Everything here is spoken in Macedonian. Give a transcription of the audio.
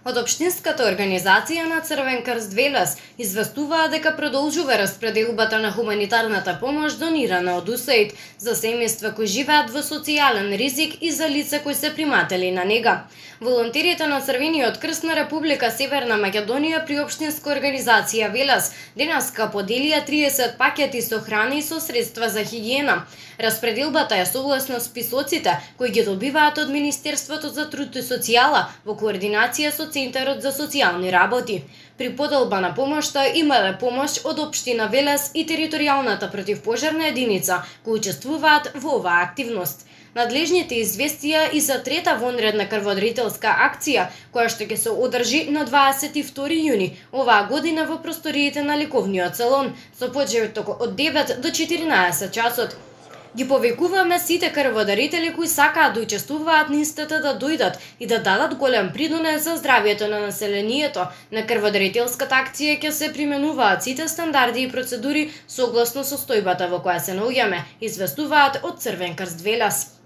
Од општинската организација на Црвен крст Велес известуваа дека продолжува распределбата на хуманитарната помош донирана од УСАИД за семејства кои живеат во социјален ризик и за лица кои се приматели на нега. Волонтерите на Црвениот крст на Република Северна Македонија при општинска организација Велес денеска поделија 30 пакети со храна и со средства за хигиена. Распределбата е согласно списоците кои ги добиваат од Министерството за труд и социјала во координација со Центарот за социјални работи. При поделба на помошта имале помош од општина Велес и територијалната противпожарна единица кои учествуваат во оваа активност. Надлежните известија и за трета вонредна крводарителска акција, која што ќе се одржи на 22 јуни оваа година во просториите на лековниот салон, со почеток од 9 до 14 часот. Ги повикуваме сите крводарители кои сакаат да учествуваат на истата да дојдат и да дадат голем придонес за здравјето на населението. На крводарителската акција ќе се применуваат сите стандарди и процедури согласно состојбата во која се наоѓаме, известуваат од Црвен крст Велес.